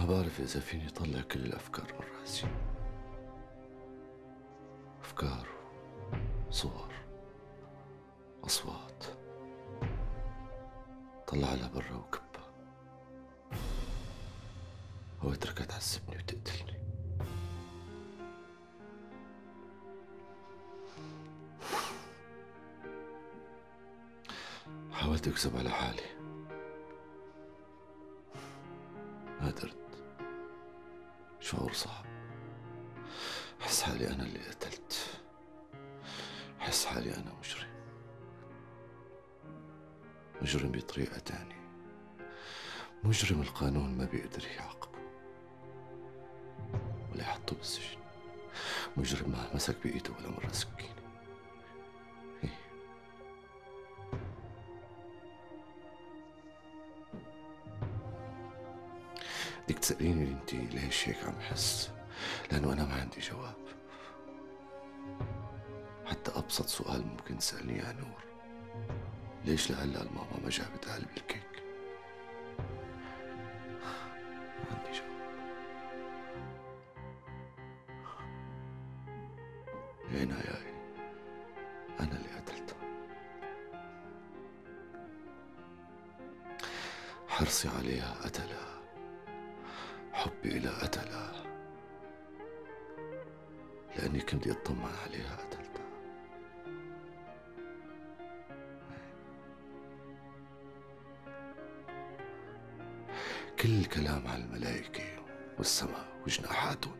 ما بعرف إذا فيني طلع كل الأفكار من راسي. أفكار، صور، أصوات، طلعها لبرا وكبها، أو اتركها تعذبني وتقتلني. حاولت أكذب على حالي، ما قدرت. شعور صعب، حس حالي أنا اللي قتلت، حس حالي أنا مجرم، مجرم بطريقة تانية، مجرم القانون ما بيقدر يعاقبه ولا يحطه بالسجن، مجرم ما مسك بإيده ولا مرة سكينة. بدك تسأليني انتي ليش هيك عم حس؟ لأنه أنا ما عندي جواب. حتى أبسط سؤال ممكن تسألني يا نور، ليش لهلا الماما ما جابت قلب الكيك؟ ما عندي جواب. يا عناياي، أنا اللي قتلتها. حرصي عليها قتلها، حبي إلها قتلها، لأني كنت بدي أطمن عليها قتلتها. كل الكلام عن الملائكة والسماء وجناحاتهم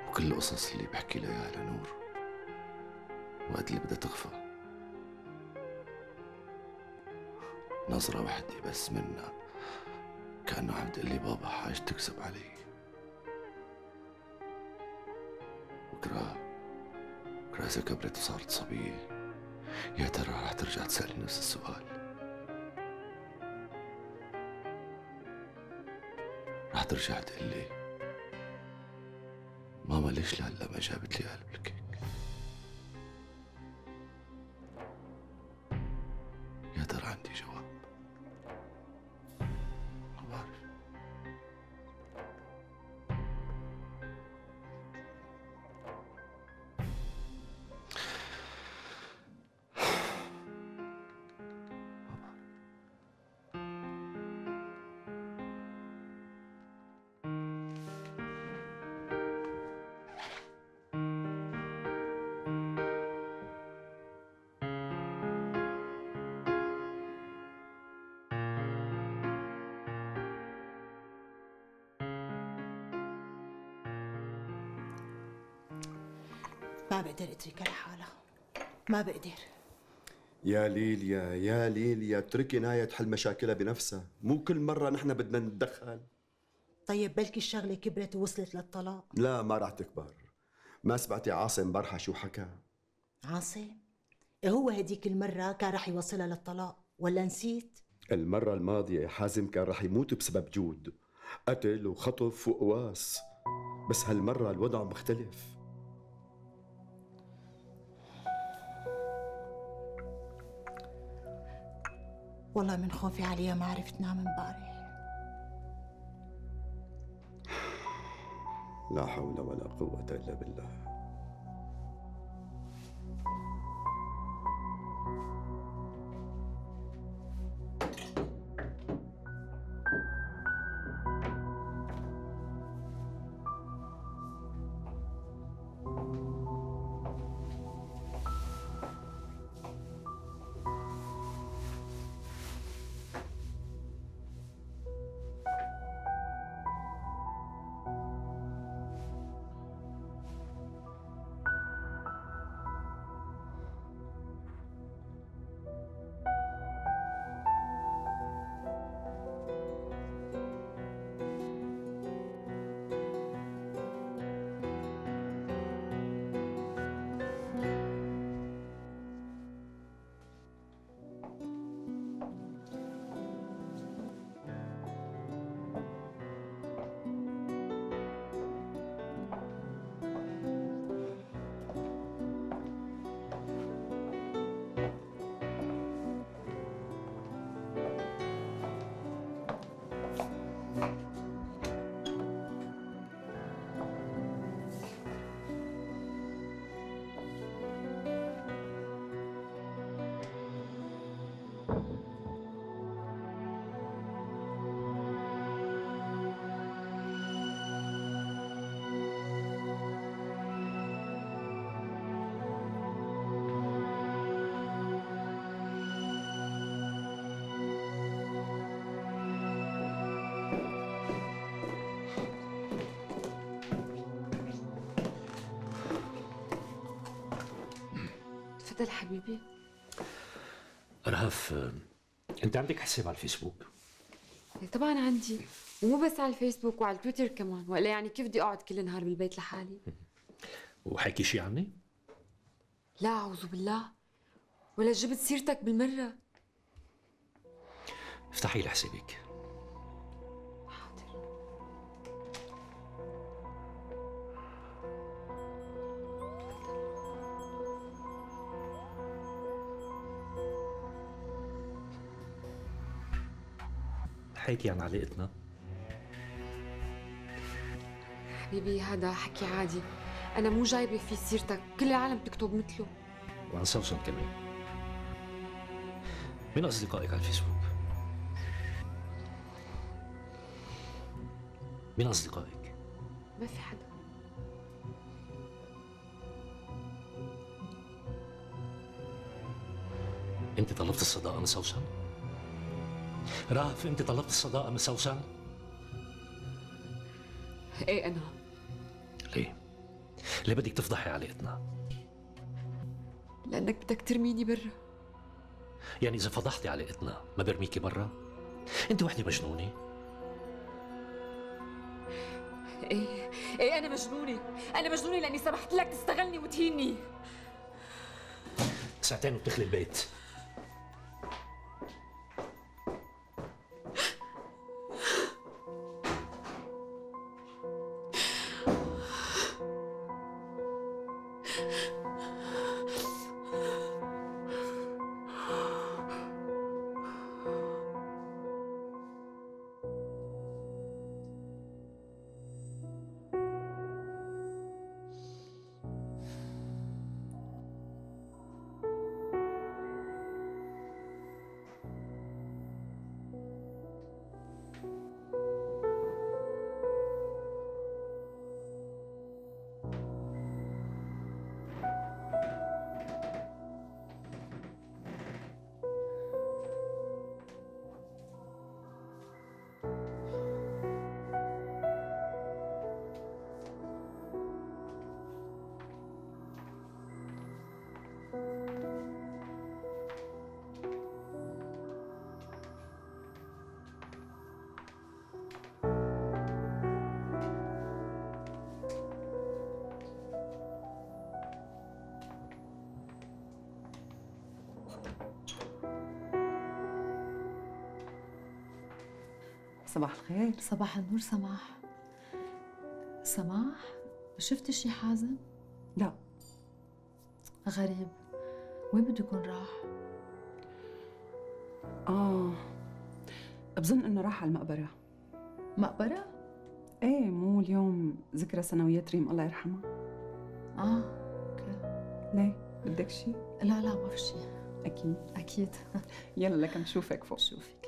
وكل القصص اللي بحكي لها إياها لنور وقت اللي بدها تغفى، نظرة وحدة بس منها كأنه عم تقلي بابا حاج تكذب علي. بكرة إذا كبرت وصارت صبية، يا ترى رح ترجع تسألني نفس السؤال؟ رح ترجع تقلي ماما ليش لهلا ما جابت لي قلب الكيك؟ يا ترى عندي جواب؟ ما بعرف. ما بقدر اتركها لحالها، ما بقدر. يا ليليا يا ليليا، اتركي نايا تحل مشاكلها بنفسها، مو كل مرة نحن بدنا نتدخل. طيب بلكي الشغلة كبرت ووصلت للطلاق. لا ما راح تكبر. ما سمعتي عاصم برحة شو حكى؟ عاصم؟ هو هديك المرة كان رح يوصلها للطلاق ولا نسيت؟ المرة الماضية حازم كان رح يموت بسبب جود، قتل وخطف وقواس، بس هالمرة الوضع مختلف. والله من خوفي عليها ما عرفت نام امبارح. لا حول ولا قوة إلا بالله. تفضل حبيبي. رهف، انت عندك حساب على الفيسبوك؟ طبعا عندي، ومو بس على الفيسبوك وعلى التويتر كمان، ولا يعني كيف بدي اقعد كل النهار بالبيت لحالي؟ وحكي شي عني؟ لا اعوذ بالله، ولا جبت سيرتك بالمره. افتحي لي حسابك. حاضر. حكي عن علاقتنا. حبيبي هذا حكي عادي، انا مو جايبه في سيرتك، كل العالم بتكتب مثله. وعن سوسن كمان. مين أصدقائك على الفيسبوك؟ مين أصدقائك؟ ما في حدا. أنت طلبت الصداقة من سوسن؟ رهف، أنت طلبت الصداقة من سوسن؟ ايه انا. ليه؟ ليه بدك تفضحي علاقتنا؟ لانك بدك ترميني برا. يعني إذا فضحتي علاقتنا ما برميكي برا؟ أنت وحدة مجنونة؟ ايه انا مجنونة، انا مجنونة لاني سمحت لك تستغلني وتهيني. ساعتين وبتخلي البيت. صباح الخير. صباح النور سماح. سماح، شفتي شي حازم؟ لا. غريب، وين بده يكون راح؟ بظن انه راح على المقبرة. مقبرة؟ ايه، مو اليوم ذكرى سنويات ريم الله يرحمها؟ اوكي. ليه؟ بدك شي؟ لا ما في شي. اكيد اكيد. يلا لك نشوفك فوق. شوفك.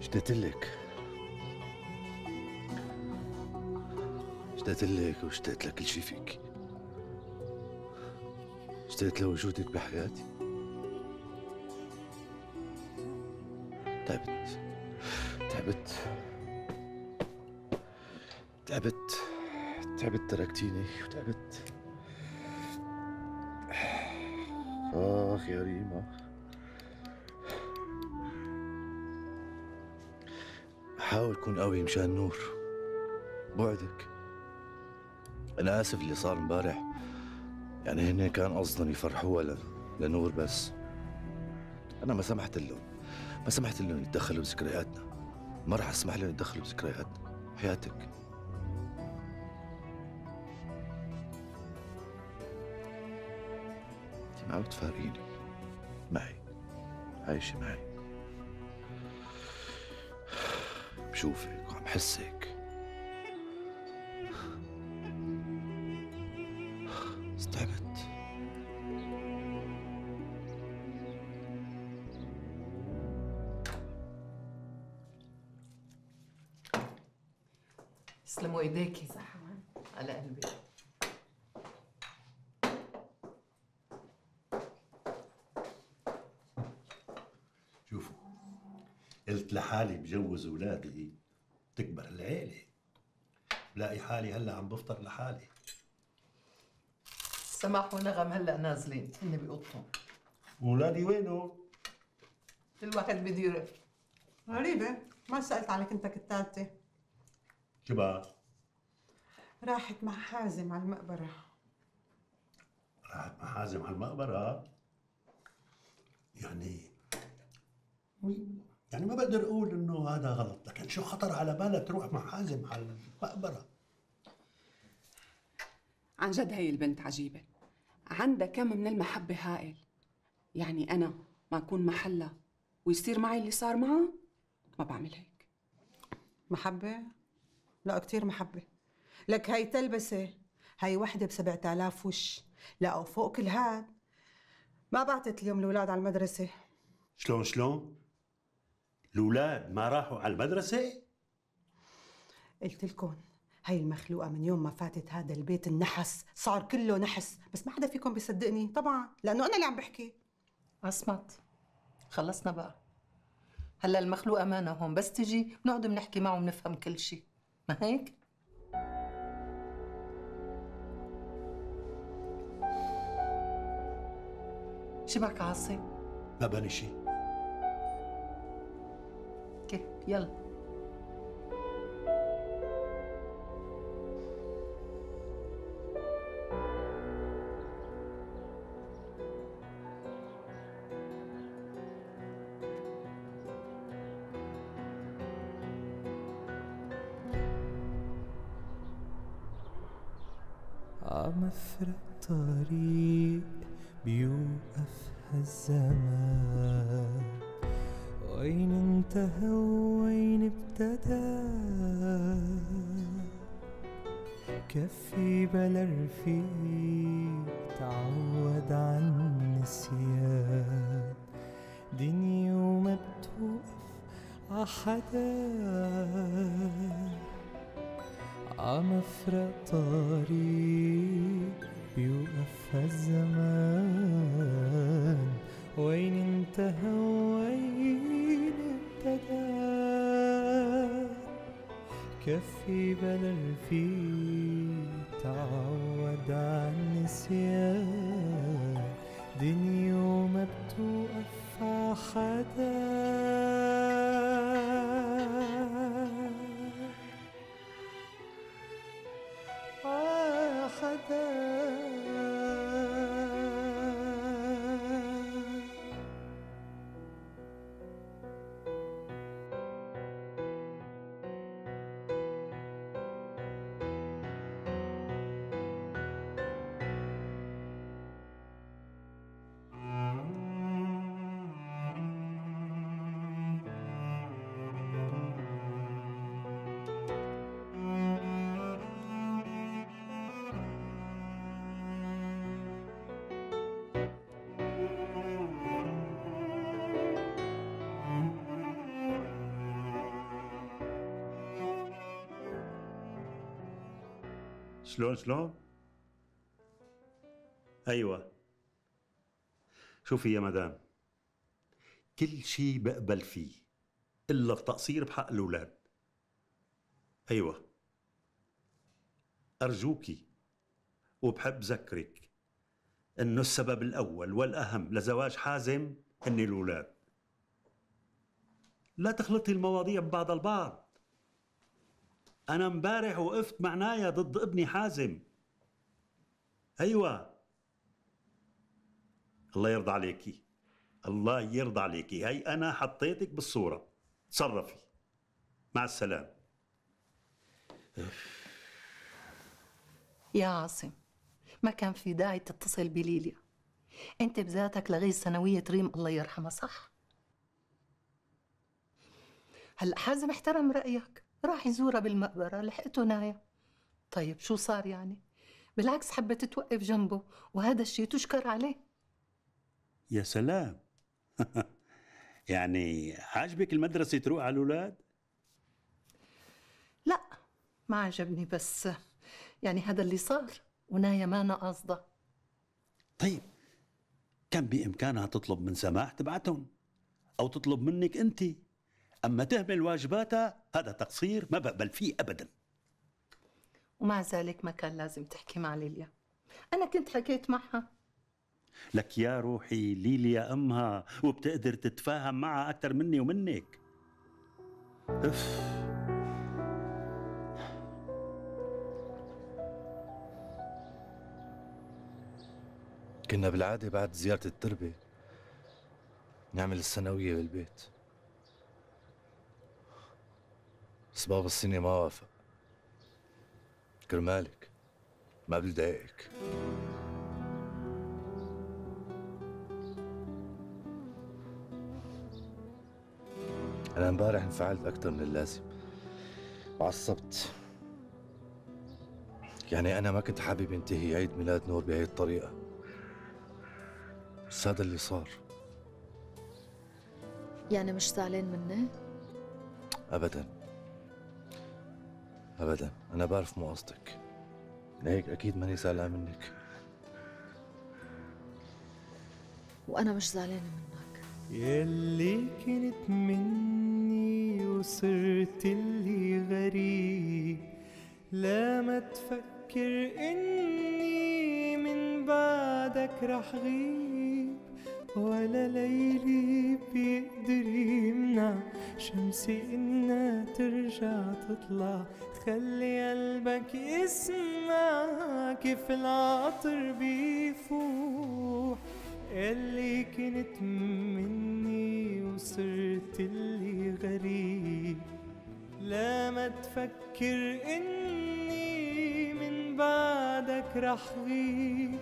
اشتقت لك واشتقت لكل شي فيك. اشتقت لوجودك بحياتي. تعبت تركتيني وتعبت. آخ يا ريما، حاول كون قوي مشان نور. بوعدك. أنا آسف اللي صار امبارح، يعني هن كان قصدهم يفرحوها لنور بس. أنا ما سمحت لهم يتدخلوا بذكرياتنا. ما راح أسمح لهم يتدخلوا بذكرياتنا. حياتك. أنت ما عم تفارقيني معي، عايشة معي، بشوفك وعم حسك. تعبت. يسلموا ايديكي على قلبي. شوفوا، قلت لحالي بجوز اولادي تكبر العيله. بلاقي حالي هلا عم بفطر لحالي. سماح ونغم هلا نازلين، هن بأوضتهم. اولادي وينهم؟ كل واحد بده يروح. غريبة، ما سألت على كنتك الثالثة. شو بقى؟ راحت مع حازم على المقبرة. راحت مع حازم على المقبرة؟ يعني ما بقدر اقول انه هذا غلط، لكن شو خطر على بالها تروح مع حازم على المقبرة؟ عن جد هي البنت عجيبة، عندها كم من المحبة هائل. يعني أنا ما أكون محلها ويصير معي اللي صار معها، ما بعمل هيك. محبة؟ لا، كتير محبة. لك هاي تلبسة، هاي وحدة ب7000 وش. لا وفوق كل هاد ما بعتت اليوم الأولاد على المدرسة. شلون؟ الأولاد ما راحوا على المدرسة؟ قلت لكم هاي المخلوقة من يوم ما فاتت هذا البيت النحس صار كله نحس، بس ما حدا فيكم بيصدقني طبعا لأنه أنا اللي عم بحكي. عصمت، خلصنا بقى. هلا المخلوقة مانا هون، بس تجي بنقعد بنحكي معه وبنفهم كل شيء، ما هيك؟ شبك عاصم؟ ما بني شيء. اوكي يلا. عمفرق طريق بيوقف هالزمان، وين انتهى وين ابتدى. كفي بلا رفيق تعود عن النسيان، دنيا وما بتوقف عحدا. عمفرق طريق بيوقف هالزمان، وين انتهى وين ابتدى. كفي بلا رفيق تعود عن النسيان، دنيا وما بتوقف عحدا. شلون؟ أيوة. شوفي يا مدام، كل شي بقبل فيه إلا التقصير بحق الأولاد. أيوة، أرجوكي وبحب ذكرك إنه السبب الأول والأهم لزواج حازم هن الأولاد. لا تخلطي المواضيع ببعض البعض. أنا امبارح وقفت مع نايا ضد ابني حازم. أيوة، الله يرضى عليكي، الله يرضى عليكي، هي أنا حطيتك بالصورة، تصرفي. مع السلامة. يا عاصم، ما كان في داعي تتصل بليليا. انت بذاتك لغيت ثانوية ريم الله يرحمها، صح؟ هلا حازم احترم رأيك، راح يزورها بالمقبرة، لحقته نايا. طيب شو صار يعني؟ بالعكس حبت توقف جنبه، وهذا الشيء تشكر عليه. يا سلام. يعني عاجبك المدرسة تروح على الأولاد؟ لا ما عجبني، بس يعني هذا اللي صار، ونايا ما أنا قاصدة. طيب كان بإمكانها تطلب من سماح تبعتهم، أو تطلب منك أنت. أما تهمل واجباتها هذا تقصير ما بقبل فيه أبدا. ومع ذلك ما كان لازم تحكي مع ليليا، أنا كنت حكيت معها. لك يا روحي، ليليا أمها وبتقدر تتفاهم معها أكثر مني ومنك. كنا بالعادة بعد زيارة التربة نعمل الثانوية بالبيت، بس بابا السنة ما وافق. كرمالك ما بدي ضايقك. أنا امبارح انفعلت أكثر من اللازم وعصبت. يعني أنا ما كنت حابب ينتهي عيد ميلاد نور بهي الطريقة، بس هذا اللي صار. يعني مش زعلان مني؟ أبداً أبداً، أنا بعرف مو قصدك، لهيك أكيد ماني زعلان منك. وأنا مش زعلانة منك. يلي كنت مني وصرت اللي غريب، لا ما تفكر إني من بعدك رح غيب، ولا ليلي بيقدر يمنع شمسي إنها ترجع تطلع. خلي قلبك يسمع كيف العطر بيفوح. اللي كنت مني وصرت اللي غريب، لا ما تفكر إني من بعدك رح غيب،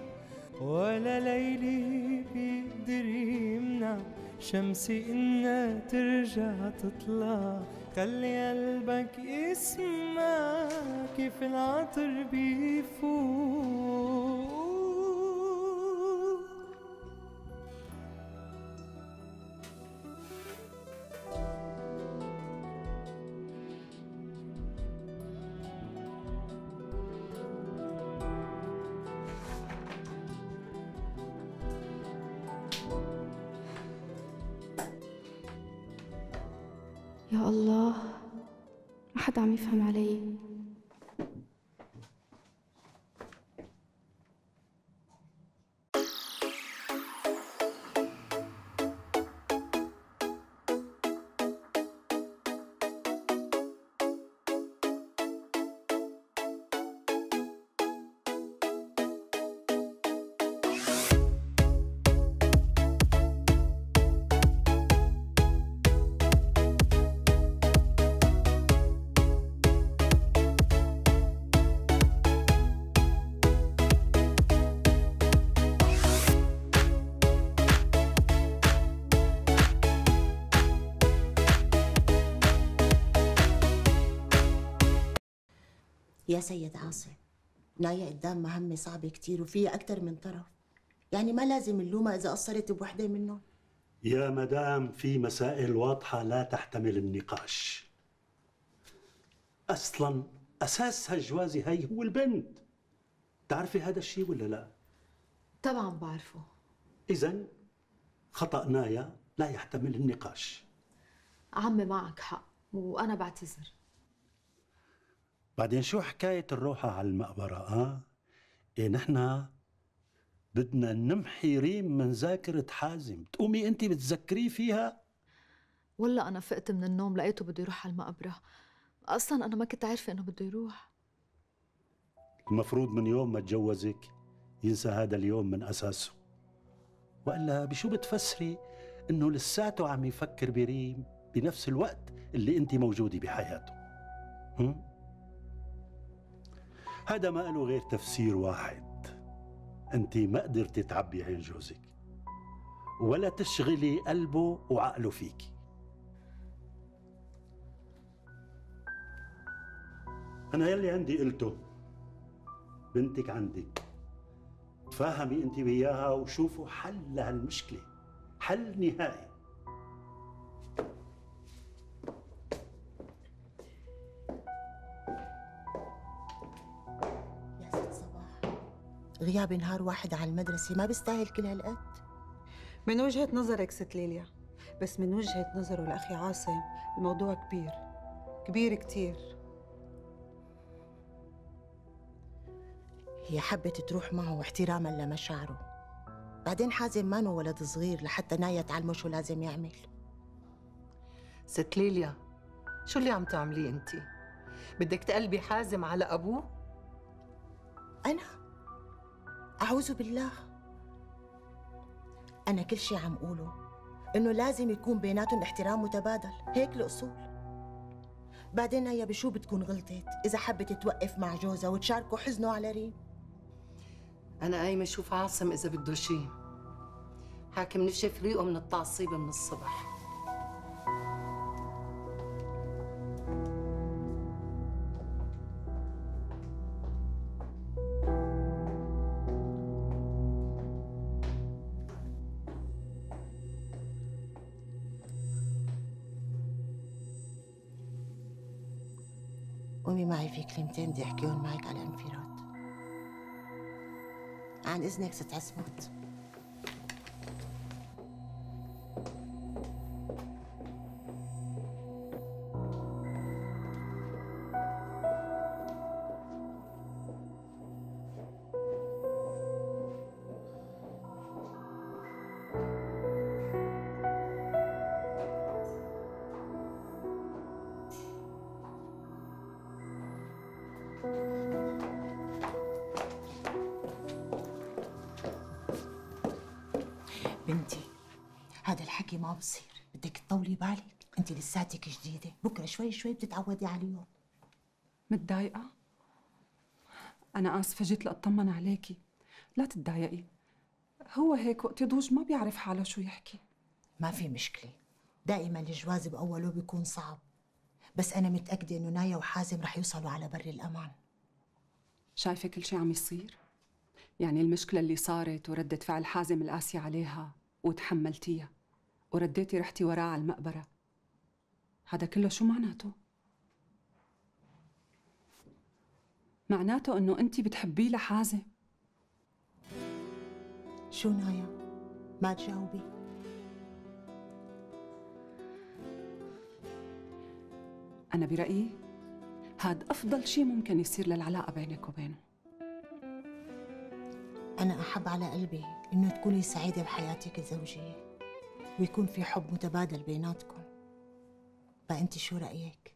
ولا ليلي بيقدر يمنع شمسي إنها ترجع تطلع. خلي قلبك يسمع كيف العطر بيفوق. يا الله، ما حدا عم يفهم علي. يا سيد عاصم، نايا قدام مهمة صعبة كتير وفيها أكتر من طرف، يعني ما لازم نلومها إذا قصرت بوحدة منهم. يا مدام في مسائل واضحة لا تحتمل النقاش. أصلاً أساس هالجوازة هي هو البنت، بتعرفي هذا الشيء ولا لا؟ طبعا بعرفه. إذن خطأ نايا لا يحتمل النقاش. عمي معك حق وأنا بعتذر. بعدين شو حكاية الروحة على المقبرة إيه نحن بدنا نمحي ريم من ذاكرة حازم، تقومي أنت بتذكريه فيها؟ والله أنا فقت من النوم لقيته بده يروح على المقبرة، أصلاً أنا ما كنت عارفة إنه بده يروح. المفروض من يوم ما تجوزك ينسى هذا اليوم من أساسه، وإلا بشو بتفسري إنه لساته عم يفكر بريم بنفس الوقت اللي أنت موجودة بحياته؟ هذا ما له غير تفسير واحد، أنت ما قدرتي تعبي عين جوزك ولا تشغلي قلبه وعقله فيكي. أنا يلي عندي قلته، بنتك عندك، تفاهمي أنت وياها وشوفوا حل لهالمشكلة، حل نهائي. يا ست صباح، غياب نهار واحد عن المدرسة ما بيستاهل كل هالقد؟ من وجهة نظرك ست ليليا، بس من وجهة نظره لأخي عاصم الموضوع كبير كبير كتير. هي حبت تروح معه احتراما لمشاعره، بعدين حازم مانو ولد صغير لحتى نايا تعلمه شو لازم يعمل. ست ليليا، شو اللي عم تعمليه انت؟ بدك تقلبي حازم على ابوه؟ أنا؟ أعوذ بالله. أنا كل شي عم قوله إنه لازم يكون بيناتهم احترام متبادل، هيك الأصول. بعدين هي بشو بتكون غلطت إذا حبت توقف مع جوزها وتشاركه حزنه على ريم؟ أنا قايمة أشوف عاصم إذا بده شي، حاكم نشف ريقه من التعصيب من الصبح. قومي معي في كلمتين بدي احكيهم معك على انفراد. عن اذنك ست عصمت. بنتي، هذا الحكي ما بصير، بدك تطولي بالك، انت لساتك جديده، بكره شوي شوي بتتعودي عليهم. متضايقة؟ أنا آسفة جيت لأطمن عليكي، لا تتضايقي، هو هيك وقت يضوج ما بيعرف حاله شو يحكي. ما في مشكله، دائما الجواز بأوله بيكون صعب، بس أنا متأكدة إنه نايا وحازم رح يوصلوا على بر الأمان. شايفة كل شي عم يصير؟ يعني المشكلة اللي صارت وردة فعل حازم القاسية عليها وتحملتيها ورديتي رحتي وراه على المقبرة، هذا كله شو معناته؟ معناته إنه أنتِ بتحبيه لحازم. شو نايا؟ ما تجاوبي؟ أنا برأيي هاد أفضل شي ممكن يصير للعلاقة بينك وبينه. أنا أحب على قلبي إنه تكوني سعيدة بحياتك الزوجية ويكون في حب متبادل بيناتكم. فأنت شو رأيك؟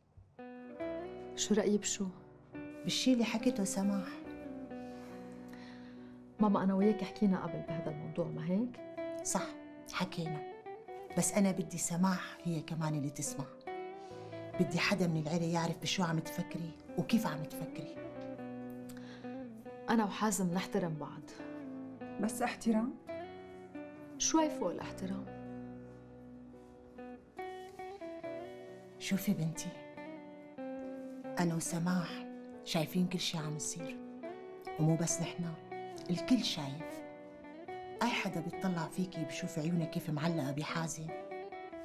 شو رأيي بشو؟ بالشي اللي حكيته سماح. ماما أنا وياك حكينا قبل بهذا الموضوع، ما هيك؟ صح، حكينا، بس أنا بدي سماح هي كمان اللي تسمع. بدي حدا من العيلة يعرف بشو عم تفكري وكيف عم تفكري. أنا وحازم نحترم بعض. بس احترام؟ شوي فوق الاحترام. شوفي بنتي، أنا وسماح شايفين كل شي عم يصير، ومو بس نحن، الكل شايف. أي حدا بيطلع فيكي بشوف عيونك كيف معلقة بحازم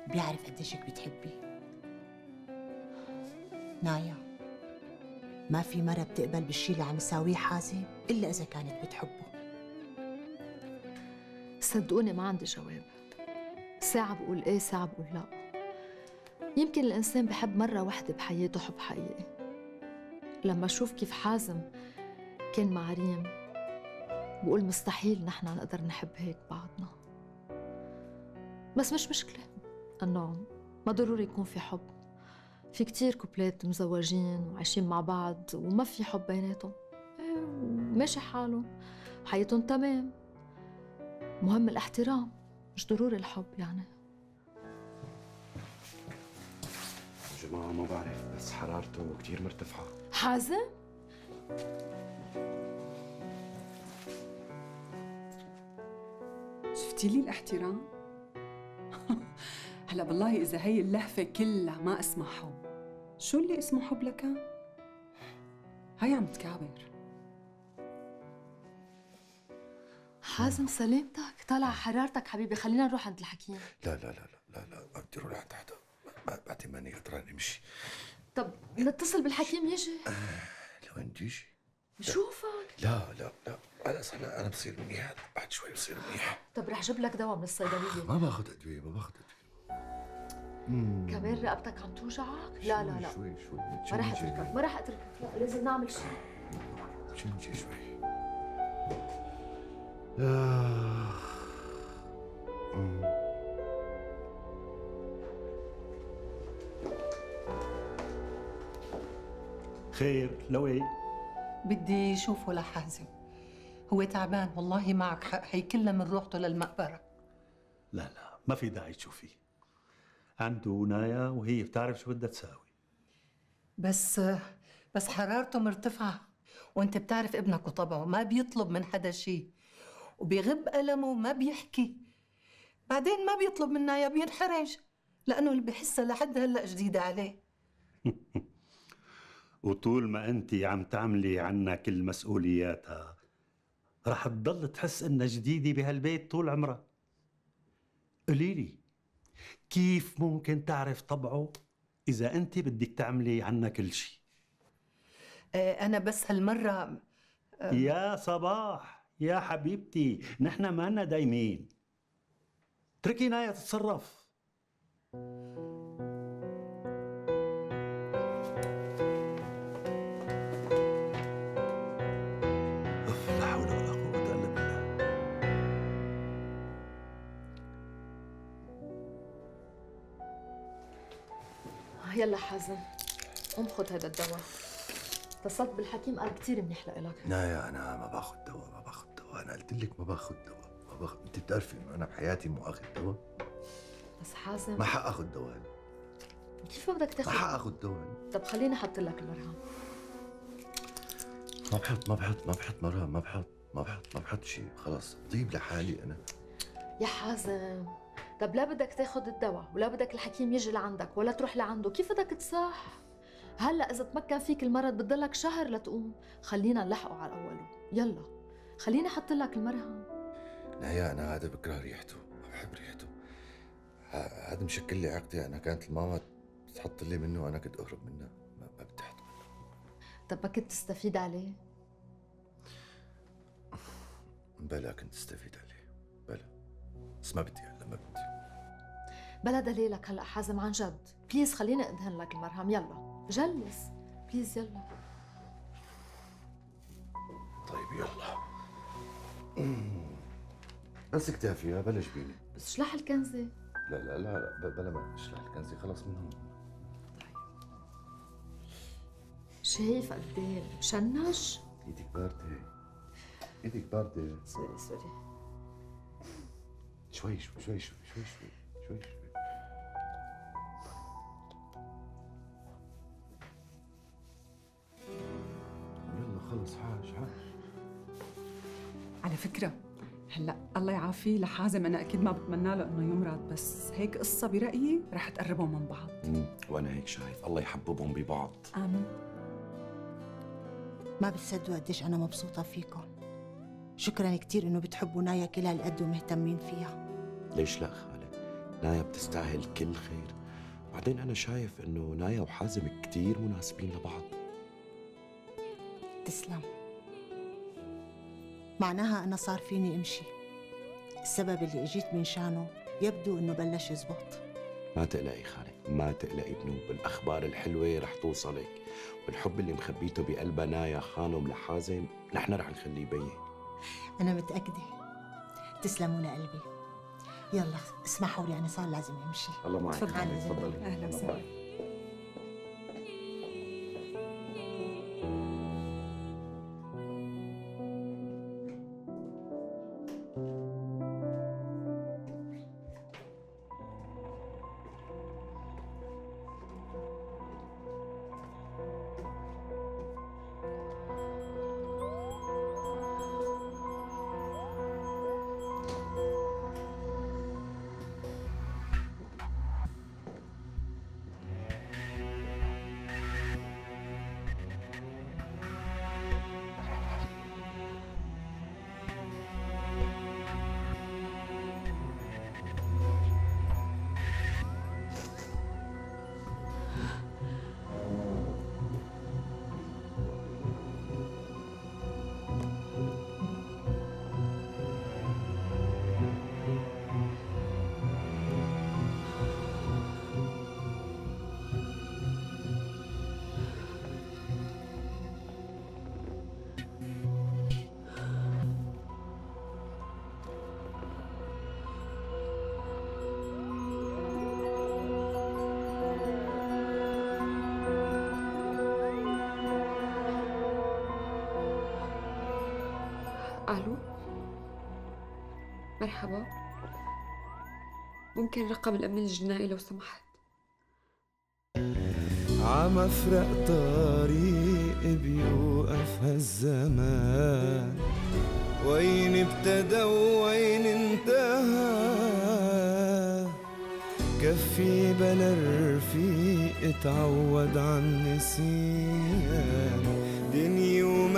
بيعرف قديشك بتحبيه. نايا، ما في مرة بتقبل بالشي اللي عم يساويه حازم إلا إذا كانت بتحبه. صدقوني ما عندي جواب. ساعة بقول إيه ساعة بقول لا. يمكن الإنسان بحب مرة واحدة بحياته حب حقيقي. لما أشوف كيف حازم كان مع ريم بقول مستحيل نحن نقدر نحب هيك بعضنا. بس مش مشكلة إنه ما ضروري يكون في حب. في كتير كوبلات مزوجين وعايشين مع بعض وما في حب بيناتهم، ماشي حالهم حياتهم تمام. مهم الاحترام مش ضروري الحب يعني. جماعة ما بعرف بس حرارته كتير مرتفعة. حازم؟ شفتي لي الاحترام؟ هلا بالله إذا هي اللهفة كلها ما اسمها حب، شو اللي اسمه حب لكان؟ هي عم تكابر. حازم سلامتك، طالع حرارتك حبيبي، خلينا نروح عند الحكيم. لا لا لا لا لا لا ما بدي اروح لعند حدا، بعد ماني قدران امشي. طب نتصل بالحكيم يجي؟ لو انت يجي بشوفك. لا لا لا خلص هلا انا بصير منيح، بعد شوي بصير منيح. طب رح جيب لك دواء من الصيدلية. ما باخذ ادويه، ما باخذ ادويه. كمان رقبتك عم توجعك؟ لا لا لا شوي ما رح اتركك، ما رح اتركك، لا لازم نعمل شيء. شنجي شوي. خير لوي؟ بدي شوفه لحازم، هو تعبان والله معك حق، هي كلها من روحته للمقبرة. لا لا ما في داعي تشوفيه، عنده نايا وهي بتعرف شو بدها تساوي. بس حرارته مرتفعة، وانت بتعرف ابنك وطبعه ما بيطلب من حدا شيء، وبيغب ألمه وما بيحكي. بعدين ما بيطلب من نايا، بينحرج لأنه اللي بحسها لحد هلأ جديدة عليه. وطول ما انت عم تعملي عنا كل مسؤولياتها رح تضل تحس انها جديدة بهالبيت طول عمرها. قولي لي كيف ممكن تعرف طبعه إذا أنت بدك تعملي عنا كل شيء؟ أنا بس هالمرة يا صباح يا حبيبتي، نحن ما لنا دايمين، اتركي نايا تتصرف. لا حول ولا قوة إلا بالله. يلا حازم قوم خذ هذا الدواء. اتصلت بالحكيم قال كثير منيح لإلك. نايا أنا ما باخذ دواء، ما باخذ دواء، أنا قلت لك ما باخذ دواء، ما باخذ. أنت بتعرفي إنه أنا بحياتي مو آخذ دواء. بس حازم ما حق آخذ دواء. كيف بدك تاخذ؟ ما حق آخذ دواء. طب خليني أحط لك المرهم. ما بحط شيء، خلص طيب لحالي أنا. يا حازم طب لا بدك تاخذ الدواء ولا بدك الحكيم يجي لعندك ولا تروح لعنده، كيف بدك تصح؟ هلا إذا تمكن فيك المرض بتضلك شهر لتقوم، خلينا نلحقه على أوله، يلا خليني أحط لك المرهم. نايا أنا هذا بكره ريحته، ما بحب ريحته. هذا مشكل لي عقدي، أنا كانت الماما تحط لي منه وأنا كنت أهرب منه، ما بدي أحط منه. طب ما كنت تستفيد عليه؟ بلا كنت استفيد عليه، بلا بس ما بدي هلا، ما بدي. بلا دليلك هلا حازم عن جد، بليز خليني أدهن لك المرهم، يلا جلس بليز يلا. طيب يلا. بس كتافي بلا جبيني. بس شلح الكنزة. لا لا لا لا بلا ما اشلح الكنزة، خلص من هون. طيب شايف قد ايه مشنج؟ ايدك باردة، ايدك باردة. سوري شوي شوي شوي شوي شوي شوي شوي. يلا خلص حاج. على فكرة هلا الله يعافيه لحازم، أنا أكيد ما بتمنى له إنه يمرض، بس هيك قصة برأيي رح تقربهم من بعض. وأنا هيك شايف، الله يحببهم ببعض. آمين. ما بتصدقوا قديش أنا مبسوطة فيكم. شكراً كتير إنه بتحبوا نايا كل هالقد ومهتمين فيها. ليش لا خالد؟ نايا بتستاهل كل خير، بعدين أنا شايف إنه نايا وحازم كتير مناسبين لبعض. تسلم. معناها أنا صار فيني أمشي. السبب اللي اجيت من شانه يبدو إنه بلش يزبط. ما تقلقي خالد، ما تقلقي بنوب، الأخبار الحلوة رح توصلك، والحب اللي مخبيته بقلبها نايا خانم لحازم نحن رح نخليه يبين. أنا متأكدة. تسلموا لقلبي. يلا اسمحوا لي، أنا صار لازم أمشي. الله معك. تفضلي. أهلا وسهلا. ألو، مرحبا، ممكن رقم الأمن الجنائي لو سمحت؟ عمفرق طريق بيوقف هالزمان، وين ابتدى وين انتهى، كفي بلا رفيق اتعود عن نسيان،